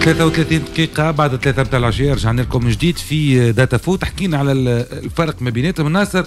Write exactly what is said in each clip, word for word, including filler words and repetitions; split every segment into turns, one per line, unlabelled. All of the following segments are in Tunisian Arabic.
ثلاثة وثلاثين دقيقة بعد ثلاثة متاع العشية، رجعنا لكم من جديد في داتا فوت. حكينا على الفرق ما بيناتهم. ناصر،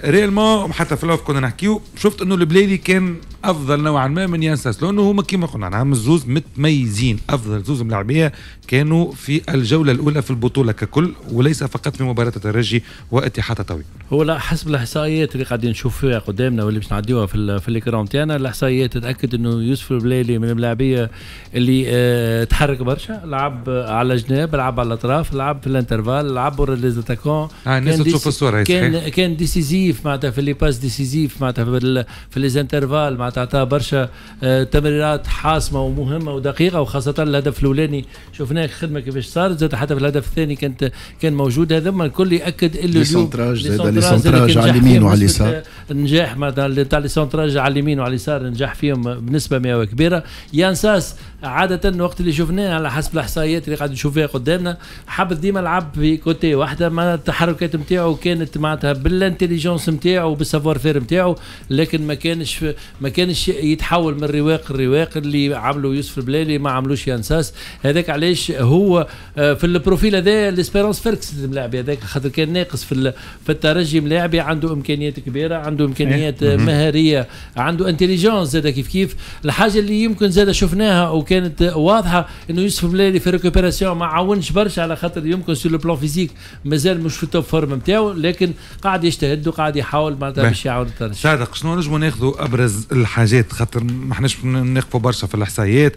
réellement حتى في ال off كنا نحكيو، شفت انه البليلي كان افضل نوعا ما من يان ساس، لانه هما كيما قلنا نعم الزوز متميزين، افضل زوز ملاعبيه كانوا في الجولة الاولى في البطولة ككل وليس فقط في مباراة الترجي واتحاد تطاوين.
هو لا، حسب الاحصائيات اللي قاعدين نشوف فيها قدامنا واللي باش نعديوها في في l'écran تاعنا، الاحصائيات تتاكد انه يوسف البليلي من الملاعبيه اللي اه تحرك برشا، لعب على الجناب، لعب على الاطراف، لعب في l'intervalle، لعب ورا les attaquants.
آه الناس تشوف الصوره.
كان كان décisif معناتها في les passes décisives، معناتها في, في les intervalles، معناتها عطاه برشا آه تمريرات حاسمة ومهمة ودقيقه، وخاصة الهدف الاولاني شفناه خدمة كيفاش صارت، زاد حتى في الهدف الثاني كانت كان موجود. هذا الكل ياكد
اللي les centrages، زاد les centrages على اليمين وعلى اليسار.
النجاح معناتها تاع les centrages على اليمين وعلى اليسار نجح فيهم بنسبة مئوية كبيره. يان ساس عادة وقت اللي شفناه، على حسب الاحصائيات اللي قاعد نشوف فيها قدامنا، حب ديما لعب في côté واحده، ما التحركات نتاعو كانت معناتها بال intelligence نتاعو وبال savoir-faire نتاعو، لكن ما كانش ما كانش يتحول من رواق الرواق اللي عملوا يوسف البلالي ما عملوش يان ساس. هذاك علاش هو آه، في ال profil هذا l'Espérance فركس الملاعب هذاك، خاطر كان ناقص في في الترجي ملاعبي عنده امكانيات كبيره، عنده امكانيات إيه. مهاريه، عنده intelligence زاد كيف كيف. الحاجة اللي يمكن زاد شفناها وكانت واضحة انه يوسف بلالي في récupération ما عاونش برشا، على خاطر يمكن sur le plan physique مازال مش في ال top forme نتاعو، لكن قاعد يجتهد وقاعد يحاول معناتها باش يعاون الترجي.
صادق، شنو نجموا ناخذوا ابرز الحاجات؟ خاطر ما احناش نقفوا برشا في الاحصائيات،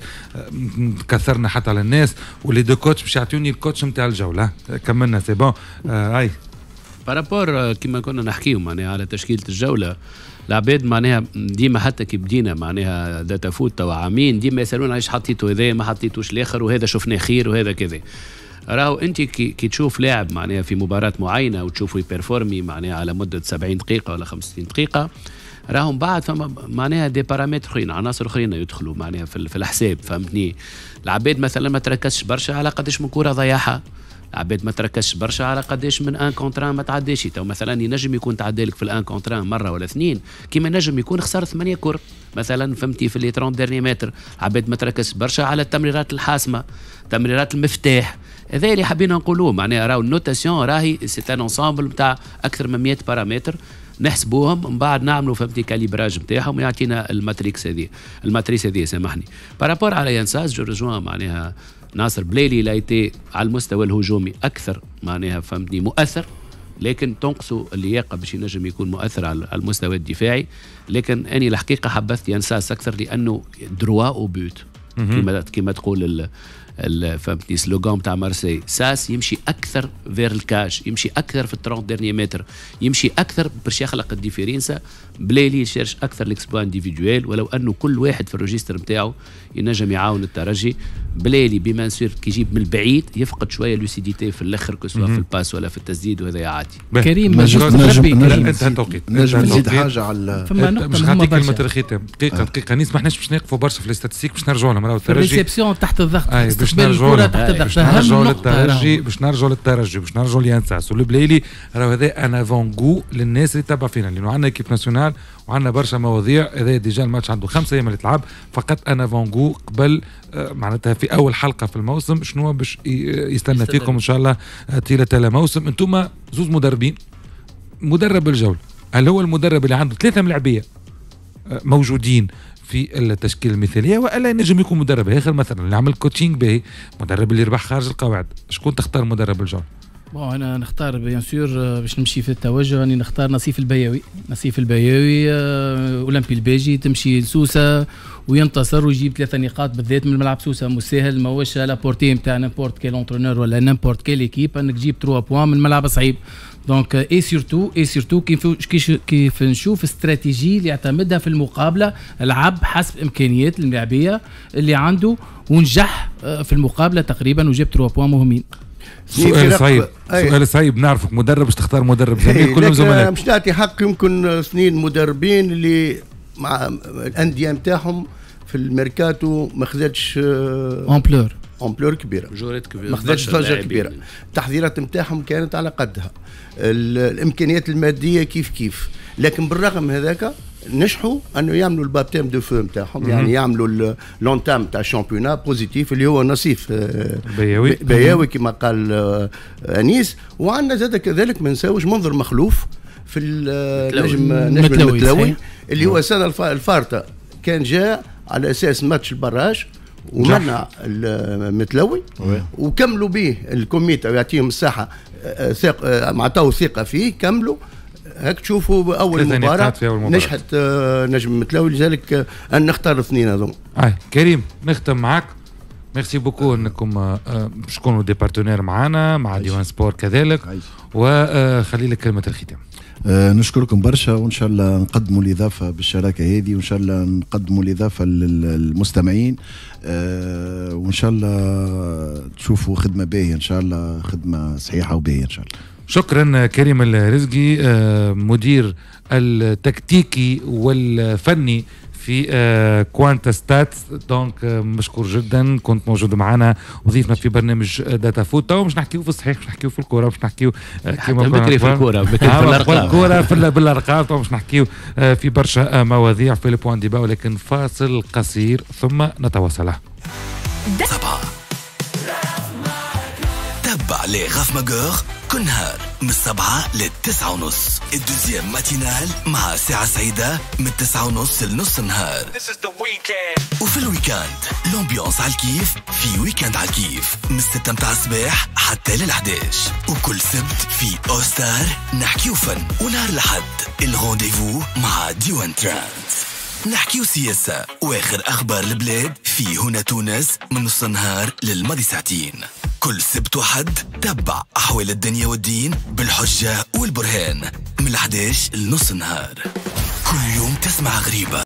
كثرنا حتى على الناس و les deux coachs باش يعطوني ال coach نتاع الجوله. كملنا، c'est bon آه هاي.
par rapport كما كنا نحكيو معناها على تشكيله الجوله، العباد معناها ديما حتى كي بدينا معناها داتا فوت توا عامين، ديما يسالونا علاش حطيتوا هذا ما حطيتوش الاخر، وهذا شفناه خير وهذا كذا. راهو انت كي, كي تشوف لاعب معناها في مباراة معينة وتشوفه ي performer معناها على مده سبعين دقيقة ولا خمسين دقيقه، راهم بعد فما معناها des paramètres اخرين، عناصر اخرين يدخلوا معناها في, في الحساب، فهمتني؟ العباد مثلا ما تركزش برشا على قداش من كره ضيعها، العباد ما تركزش برشا على قداش من un contre un ما تعداش. تو مثلا ينجم يكون تعدى لك في ال un contre un مرة ولا اثنين، كيما نجم يكون خسر ثمانية كور مثلا، فهمتي؟ في les trente derniers mètres. العباد ما تركزش برشا على التمريرات الحاسمه، تمريرات المفتاح. هذا اللي حابين نقولوه، معناها راهو ال notation راهي c'est un ensemble نتاع اكثر من مية بارامتر نحسبوهم، من بعد نعملوا، فهمتي، calibrage نتاعهم يعطينا ال matrix هذه، ال matrice هذه، سامحني. par rapport على يان ساس، je rejoins معناها ناصر، بليلي l'a été على المستوى الهجومي اكثر معناها، فهمتني، مؤثر، لكن تنقصوا اللياقة باش ينجم يكون مؤثر على المستوى الدفاعي. لكن اني الحقيقة حبذت يان ساس اكثر لانه droit au but، كما كما تقول فهمتني slogan تاع مارسي. ساس يمشي اكثر vers ال cage، يمشي اكثر في ال trente derniers mètres، يمشي اكثر باش يخلق ال différence. بليلي cherche اكثر l'exploit individuel، ولو انه كل واحد في ال registre نتاعو ينجم يعاون الترجي. بليلي bien sûr كي يجيب من البعيد يفقد شوية lucidité في الاخر، que ce soit في ال passe ولا في التسديد، وهذا عادي.
كريم.
نجم نجم
انتهى التوقيت.
نجم نزيد حاجة على
فما نقطة
مش
مهمة
نعطيك كلمة
برشا.
الختام، دقيقة دقيقه نيس، ما احناش باش نقفوا برشا في ال statistiques، باش نرجعوا لهم راهو الترجي
ال réception تحت الضغط،
أي باش
استقبال
نرجعوا
الكره
لهم.
تحت الضغط
باش
اهم
نرجعوا
نقطة
للترجي،
راهو.
باش نرجعوا للترجي، باش نرجعوا ليان ساس والبليلي. راهو هذا un avant-goût للناس اللي تبع فينا، لانه عندنا équipe nationale وعندنا برشا مواضيع. هذا déjà الماتش عنده خمسة ايام اللي تلعب، فقط un avant-goût قبل آه، معناتها في اول حلقة في الموسم شنو باش يستنى فيكم ان شاء الله آه، طيلة الموسم. انتم زوز مدربين، مدرب الجوله، هل هو المدرب اللي عنده ثلاثة ملاعبيه آه، موجودين في التشكيلة المثاليه، والا ينجم يكون مدرب اخر مثلا اللي عمل coaching باهي، مدرب اللي ربح خارج القواعد؟ شكون تختار مدرب الجوله؟
bon، انا نختار bien sûr باش نمشي في التوجه، راني نختار نصيف البياوي. نصيف البياوي، آه، اولمبي الباجي تمشي لسوسه وينتصر ويجيب ثلاثة نقاط، بالذات من ملعب سوسة مش ساهل، ماهوش à la portée نتاع n'importe quel entraîneur ولا n'importe quelle équipe انك تجيب trois points من ملعب صعيب. donc et surtout et surtout كيف كيف نشوف استراتيجي اللي يعتمدها في المقابله، لعب حسب امكانيات الملاعبيه اللي عنده ونجح آه، في المقابلة تقريبا وجاب trois points مهمين.
سؤال صعيب، سؤال صعيب، نعرفك مدرب باش تختار مدرب زميل، كلهم زملاء.
مش نعطي حق يمكن اثنين مدربين اللي مع الاندية نتاعهم في الميركاتو ما خذتش
ampleur
ampleur كبيره.
جورات كبيره.
ما خذتش ضجه كبيره، التحضيرات نتاعهم كانت على قدها، الامكانيات المادية كيف كيف، لكن بالرغم هذاك نجحوا انه يعملوا ال baptême de feu نتاعهم، يعني يعملوا l'entame تاع ال championnat positif اللي هو نصيف
بياوي
بياوي كما قال انيس. وعندنا زاد كذلك ما نساوش منظر مخلوف في النجم نجم المتلوي اللي هو السنة الفارطه كان جاء على اساس match ال barrage ومنع المتلوي وكملوا به ال comité ويعطيهم الساحة ثق عطاو ثقة فيه، كملوا هاك تشوفوا اول مباراة نجحت نجم المتلوي، لذلك ان نختار الاثنين هذوما.
اي كريم نختم معك، merci beaucoup انكم باش تكونوا des partenaires معنا مع ديوان سبور كذلك، وخلي لك كلمة الختام.
آه نشكركم برشا، وان شاء الله نقدموا الاضافة بالشراكة هذه، وان شاء الله نقدموا الاضافة للمستمعين، آه وان شاء الله تشوفوا خدمة باهيه، ان شاء الله خدمة صحيحه وباهيه ان شاء الله.
شكرا كريم الرزقي، آه مدير التكتيكي والفني في كوانتا ستات، donc مشكور جدا كنت موجود معنا وضيفنا في برنامج داتا فوت. تو مش نحكيو في الصحيح، مش نحكيو في الكورة، مش نحكيو
كيما بكري في الكورة، بكري في الارقام،
الكورة في بالارقام، تو مش نحكيو في برشا مواضيع في ال point débat، ولكن فاصل قصير ثم نتواصل.
سبعة تبع les Raf Magueur كل نهار من السبعة للتسعة ونص، ال deuxième matinale مع ساعة سعيدة من التسعة ونص لنص النهار. وفي ال week-end l'ambiance على الكيف في week-end على الكيف من الستة متاع الصباح حتى للحداش، وكل سبت في أوستار نحكيو فن، ونهار الأحد ال rendez-vous مع ديوان تراند نحكيو سياسة واخر أخبار البلاد في هنا تونس من نص النهار للماضي ساعتين. كل سبت وحد تبع أحوال الدنيا والدين بالحجة والبرهان من الحداش لنص النهار. كل يوم تسمع غريبة.